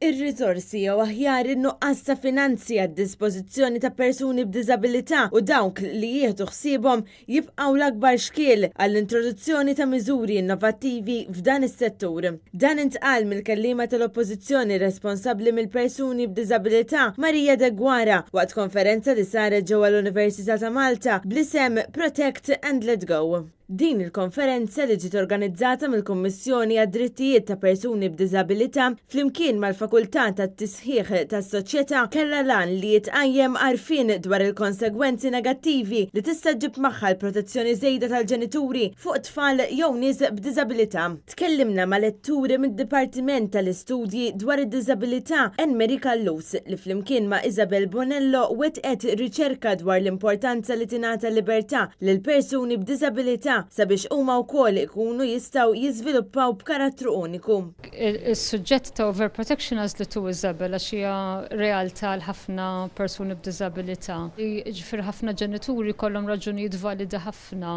Ir-riżorsi jew aħjar in-nuqqas ta' finanzi għad-dispożizzjoni ta' persuni b'diżabilità u dawk li jieħdu ħsiebhom jibqgħu l-akbar xkiel għall-introduzzjoni ta' miżuri innovattivi f'dan is-settur. Dan intqal mill-kelliema tal-Oppożizzjoni responsabbli mill-persuni b'diżabilità Maria Deguara waqt konferenza li saret ġewwa l-Università ta' Malta bl-isem Protect and Let Go. Din il-konferenza li ġiet organizzata mill-Kummissjoni għad-Drittijiet ta' Persuni b'Diżabilità flimkien mal-Fakultà tat-Tisħiħ tas-Soċjetà kellha l-għan li jitqajjem għarfien dwar il-konsegwenzi negattivi li tista' ġġib magħha l-protezzjoni żejda tal-ġenituri fuq tfal jew nies b'diżabilità. Tkellimna ma' letturi mid-Dipartiment tal-Istudji dwar id-Diżabilità Anne Marie Callus li flimkien ma' Isabel Bonello wettqet riċerka dwar l-importanza li tingħata libertà lil persuni b'diżabilità sabiex huma wkoll ikunu jistgħu jiżviluppaw b'karattru uniku. Is-suġġett ta' overprotection għażlitu Isabel għax hija realtà għal ħafna persuni b'diżabilità. Jiġifieri ħafna ġenituri jkollhom raġunijiet validi ħafna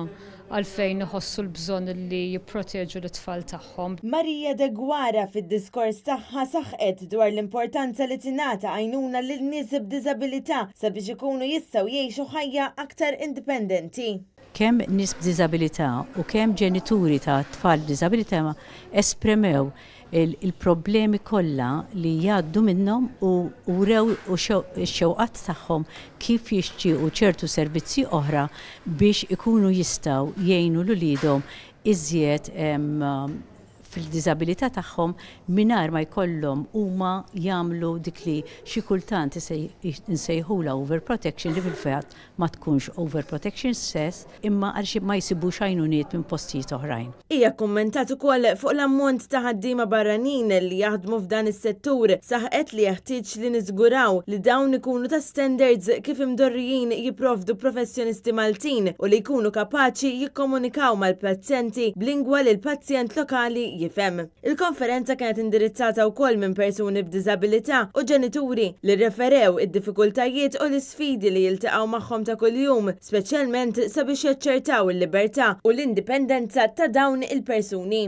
għalfejn iħossu l-bżonn li jipproteġu lit-tfal tagħhom. Maria Deguara fid-diskors tagħha saħqet dwar l-importanza li tingħata għajnuna lil nies b'diżabilità sabiex ikunu jistgħu jgħixu ħajja aktar indipendenti. Kemm nies b'diżabilità u kemm ġenituri ta' tfal b'diżabilità esprimew il-problemi kollha li jgħaddu minnhom u wrew ix-xewqat tagħhom kif jixtiequ ċertu servizzi oħra biex ikunu jistgħu jgħinu 'l uliedhom iżjed fil-diżabilità tagħhom mingħajr ma jkollhom huma jagħmlu dik li xi kultant insejħulha overprotection, li fil-fatt ma tkunx overprotection stess, imma għaliex ma jsibux għajnuniet minn postijiet oħrajn. Hija kkummentat ukoll fuq l-ammont ta' ħaddiema barranin li jaħdmu f'dan is-settur. Saħqet li jeħtieġ li niżguraw li dawn ikunu ta' standards kif imdorrijin jipprovdu professjonisti Maltin u li jkunu kapaċi jikkomunikaw mal-pazjenti b'lingwa li l-pazjent lokali jifhem. Il-konferenza kienet indirizzata wkoll minn persuni b'diżabilità u ġenituri li rreferew id-diffikultajiet u l-isfidi li jiltaqgħu magħhom ta' kuljum, speċjalment sabiex jaċċertaw il-libertà u l-indipendenza ta' dawn il-persuni.